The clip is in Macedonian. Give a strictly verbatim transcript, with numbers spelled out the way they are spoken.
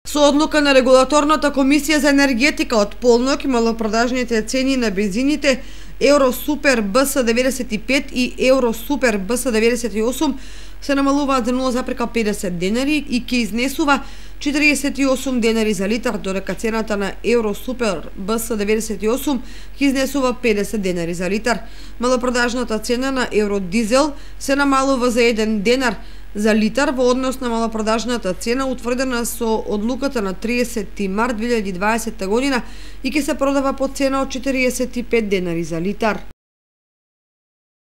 Со одлука на Регулаторната комисија за енергетика од полнок малопродажните цени на бензините Евро Супер Б С деветдесет и пет и Евро Супер Б С деветдесет и осум се намалуваат за нула запирка педесет денари и ќе изнесува четиридесет и осум денари за литар, додека цената на Евро Супер Б С деветдесет и осум ќе изнесува педесет денари за литар. Малопродажната цена на Евро Дизел се намалува за еден денар за литар во однос на малопродажната цена утврдена со одлуката на триесети март две илјади и дваесетта година и ќе се продава по цена од четиридесет и пет денари за литар.